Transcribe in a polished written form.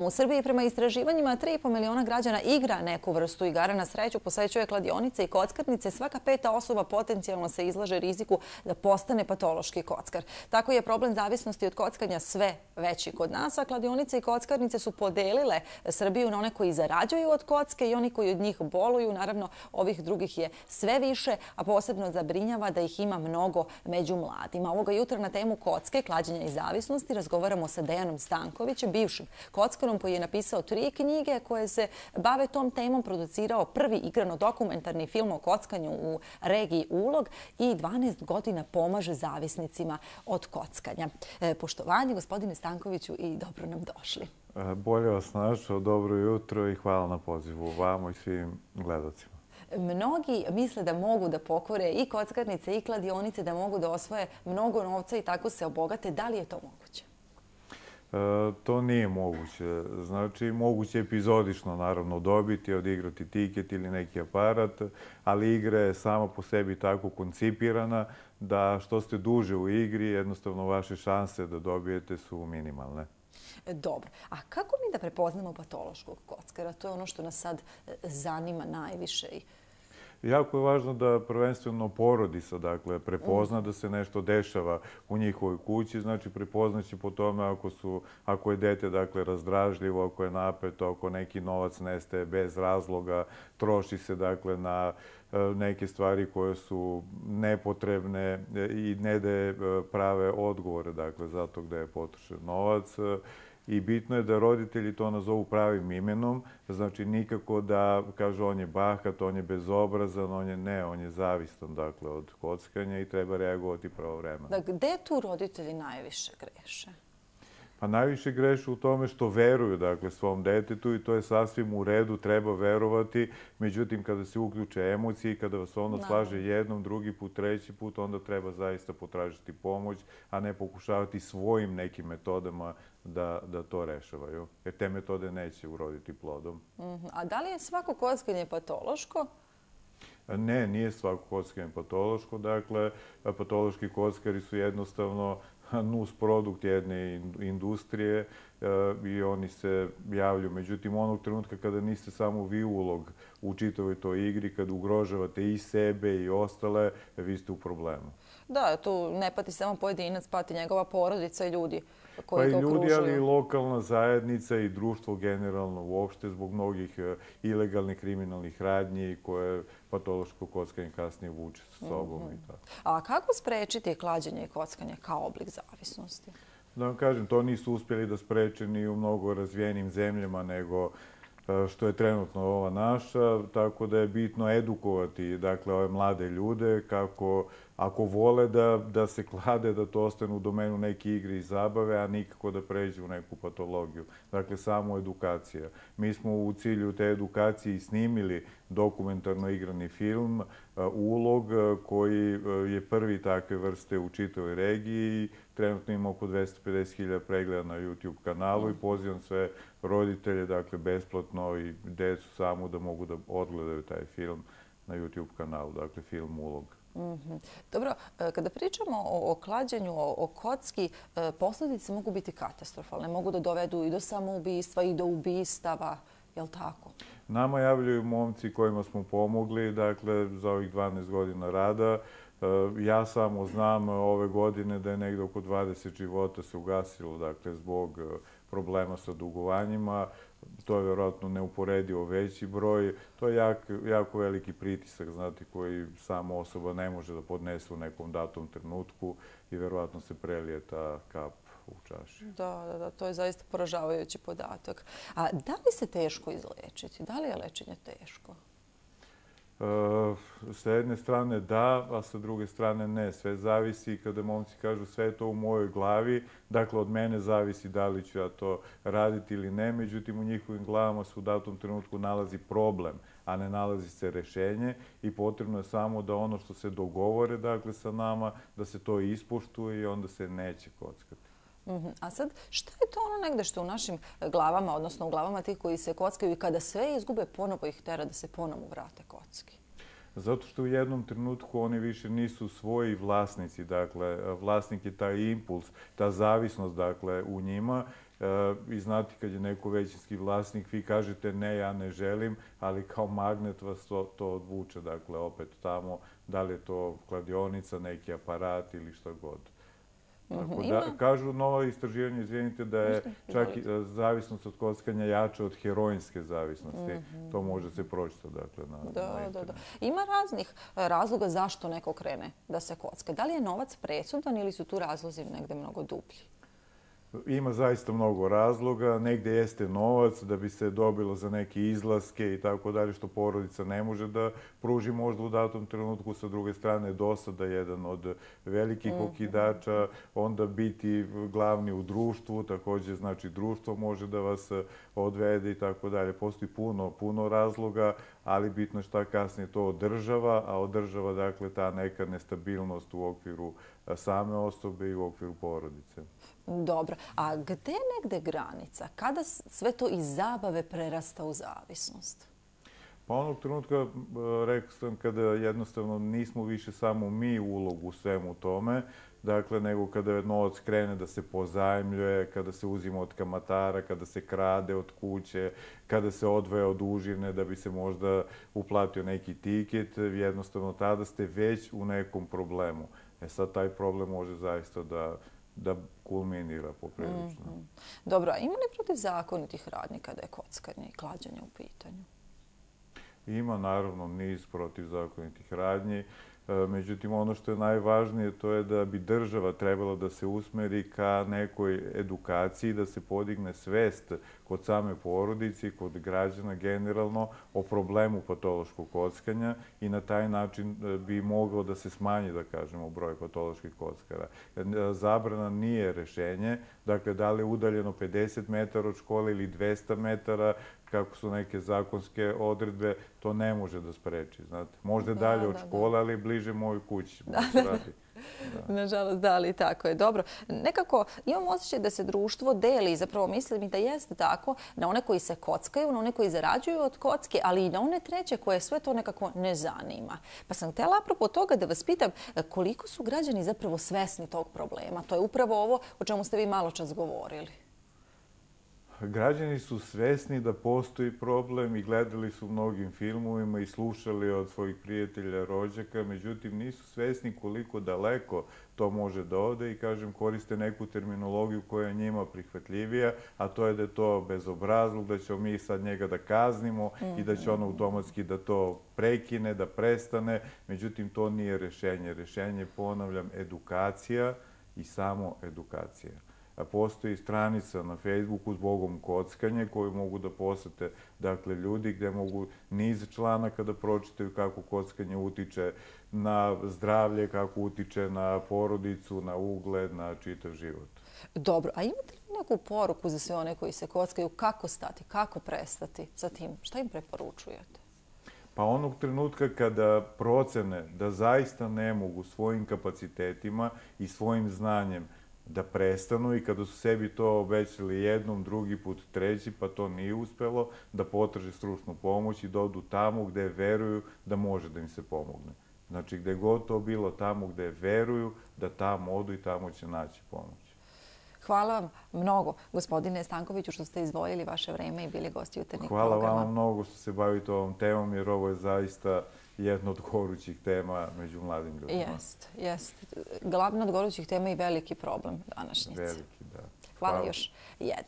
U Srbiji prema istraživanjima 3,5 miliona građana igra neku vrstu igara na sreću, posećuje kladionice i kockarnice. Svaka peta osoba potencijalno se izlaže riziku da postane patološki kockar. Tako je problem zavisnosti od kockanja sve veći kod nas, a kladionice i kockarnice su podelile Srbiju na one koji zarađuju od kocke i oni koji od njih boluju. Naravno, ovih drugih je sve više, a posebno zabrinjava da ih ima mnogo među mladima. Ovoga jutra na temu kocke, klađenja i zavisnosti razgovaramo sa Dejanom Stankovićem, bivšim kockarom koji je napisao 3 knjige koje se bave tom temom, producirao prvi igrano-dokumentarni film o kockanju u regiji Ulog i 12 godina pomaže zavisnicima od kockanja. Poštovanje, gospodine Stankoviću, i dobro nam došli. Bolje vas našao, dobro jutro i hvala na pozivu vama i svim gledalcima. Mnogi misle da mogu da pokore i kockarnice i kladionice, da mogu da osvoje mnogo novca i tako se obogate. Da li je to moguće? To nije moguće. Znači, moguće je epizodično naravno dobiti, odigrati tiket ili neki aparat, ali igra je sama po sebi tako koncipirana da što ste duže u igri, jednostavno vaše šanse da dobijete su minimalne. Dobro. A kako mi da prepoznamo patološkog kockara? To je ono što nas sad zanima najviše. Jako je važno da prvenstveno porodica prepozna da se nešto dešava u njihovoj kući. Znači, prepoznaće po tome ako je dete razdražljivo, ako je napeto, ako neki novac nestaje bez razloga, troši se na neke stvari koje su nepotrebne i ne daje prave odgovore zato gde je potrošen novac. I bitno je da roditelji to nazovu pravim imenom, znači nikako da kažu on je bahat, on je bezobrazan, on je zavistan od kockanja i treba reagovati pravovremeno. Gde tu roditelji najviše greše? Pa najviše greše u tome što veruju svom detetu i to je sasvim u redu, treba verovati. Međutim, kada se uključe emocije i kada vas ono slaže jednom, drugi put, treći put, onda treba zaista potražiti pomoć, a ne pokušavati svojim nekim metodama da to rešavaju. Jer te metode neće uroditi plodom. A da li je svako kockanje patološko? Ne, nije svako kockanje patološko. Dakle, patološki kockari su jednostavno nus produkt jedne industrije i oni se javljaju. Međutim, onog trenutka kada niste samo vi ulog u čitavoj toj igri, kada ugrožavate i sebe i ostale, vi ste u problemu. Da, tu ne pati samo pojedinac, pati njegova porodica i ljudi koji ga okružuju. Pa i ljudi, ali i lokalna zajednica i društvo generalno uopšte zbog mnogih ilegalnih kriminalnih radnji koje patološko kockanje kasnije vuče sa sobom i tako. A kako sprečiti klađenje i kockanje kao oblik zavisnosti? Da vam kažem, to nisu uspjeli da spreče ni u mnogo razvijenim zemljama nego što je trenutno ova naša, tako da je bitno edukovati ove mlade ljude kako ako vole da se klade, da to ostane u domenu neke igre i zabave, a nikako da pređe u neku patologiju. Dakle, samo edukacija. Mi smo u cilju te edukacije i snimili dokumentarno igrani film Ulog, koji je prvi takve vrste u čitavoj regiji. Trenutno ima oko 250.000 pregleda na YouTube kanalu i pozivam sve roditelje, besplatno i decu samo da mogu da odgledaju taj film na YouTube kanalu, dakle film Ulog. Dobro, kada pričamo o klađenju, o kocki, posljedice mogu biti katastrofalne. Mogu da dovedu i do samoubistva i do ubistava, je li tako? Nama javljaju momci kojima smo pomogli, za ovih 12 godina rada. Ja samo znam ove godine da je negde oko 20 života se ugasilo, zbog problema sa dugovanjima. To je vjerojatno neuporedivo veći broj. To je jako veliki pritisak, koji sama osoba ne može da podnese u nekom datom trenutku i vjerojatno se prelije ta kap u čaši. Da, to je zaista poražavajući podatak. A da li se teško izlečiti? Da li je lečenje teško? Sa jedne strane da, a sa druge strane ne. Sve zavisi kada momci kažu sve je to u mojoj glavi. Dakle, od mene zavisi da li ću ja to raditi ili ne. Međutim, u njihovim glavama se u datom trenutku nalazi problem, a ne nalazi se rešenje i potrebno je samo da ono što se dogovore sa nama, da se to ispoštuje i onda se neće kockati. A sad, šta je to ono negde što u našim glavama, odnosno u glavama tih koji se kockaju i kada sve izgube, ponovo ih tera da se ponovo vrate kocki? Zato što u jednom trenutku oni više nisu svoji vlasnici. Dakle, vlasnik je taj impuls, ta zavisnost u njima I znate, kad je neko većinski vlasnik, vi kažete ne, ja ne želim, ali kao magnet vas to odvuče, dakle, opet tamo, da li je to kladionica, neki aparat ili šta god. Tako da, kažu nova istraživanja, izvinite, da je čak i zavisnost od kockanja jača od heroinske zavisnosti. To može se pročitati, dakle, na internetu. Ima raznih razloga zašto neko krene da se kocka. Da li je novac presudan ili su tu razlozi negde mnogo dublji? Ima zaista mnogo razloga. Negdje jeste novac da bi se dobilo za neke izlaske i tako dalje, što porodica ne može da pruži možda u datom trenutku. Sa druge strane, dosada je jedan od velikih okidača. Onda biti glavni u društvu, također znači društvo može da vas odvede i tako dalje. Postoji puno razloga, ali bitno je šta kasnije to održava, a održava dakle ta neka nestabilnost u okviru same osobe i u okviru porodice. Dobro. A gde je negde granica? Kada sve to iz zabave prerasta u zavisnost? Pa onog trenutka, rekao sam, kada jednostavno nismo više samo mi ulogu u svemu tome, dakle, nego kada novac krene da se pozajmljuje, kada se uzima od kamatara, kada se krade od kuće, kada se odvaja od užine da bi se možda uplatio neki tiket, jednostavno tada ste već u nekom problemu. Sad taj problem može zaista da kulminira poprilično. Dobro, a ima li protivzakonitih radnji kada je kockanje i klađenje u pitanju? Ima naravno niz protivzakonitih radnji. Međutim, ono što je najvažnije to je da bi država trebala da se usmeri ka nekoj edukaciji, da se podigne svest kod same porodice i kod građana generalno o problemu patološkog kockanja i na taj način bi moglo da se smanji, da kažemo, broj patoloških kockara. Zabrana nije rešenje. Dakle, da li je udaljeno 50 metara od škole ili 200 metara, kako su neke zakonske odredbe, to ne može da spreči, znate. Možda dalje od škole, ali bliže mojoj kući. Nažalost, da, ali tako je. Dobro. Nekako imam osjećaj da se društvo deli, zapravo mislim i da jeste tako, na one koji se kockaju, na one koji zarađuju od kocke, ali i na one treće koje sve to nekako ne zanima. Pa sam htjela apropo toga da vas pitam koliko su građani zapravo svesni tog problema. To je upravo ovo o čemu ste vi malo čas govorili. Građani su svesni da postoji problem i gledali su mnogim filmovima i slušali od svojih prijatelja, rođaka, međutim nisu svesni koliko daleko to može da ode i, kažem, koriste neku terminologiju koja je njima prihvatljivija, a to je da je to bezobrazluk, da ćemo mi sad njega da kaznimo i da će on automatski da to prekine, da prestane. Međutim, to nije rešenje. Rešenje, ponavljam, edukacija i samo edukacija. Postoji stranica na Facebooku Zbogom kockanje koju mogu da posete ljudi gdje mogu niz članaka da pročitaju kako kockanje utiče na zdravlje, kako utiče na porodicu, na ugled, na čitav život. Dobro, a imate li neku poruku za sve one koji se kockaju? Kako stati, kako prestati sa tim? Šta im preporučujete? Pa onog trenutka kada procene da zaista ne mogu svojim kapacitetima i svojim znanjem da prestanu i kada su sebi to obećali jednom, drugi put, treći, pa to nije uspelo, da potraže stručnu pomoć i da odu tamo gde veruju da može da im se pomogne. Znači, gde god to bilo, tamo gde veruju da tamo odu i tamo će naći pomoć. Hvala vam mnogo, gospodine Stankoviću, što ste izdvojili vaše vreme i bili gosti jutarnjeg programa. Hvala vam mnogo što se bavite ovom temom, jer ovo je zaista jedna od gorućih tema među mladim ljudima. Jest. Glavna od gorućih tema i veliki problem današnjice. Veliki, da. Hvala još jednom.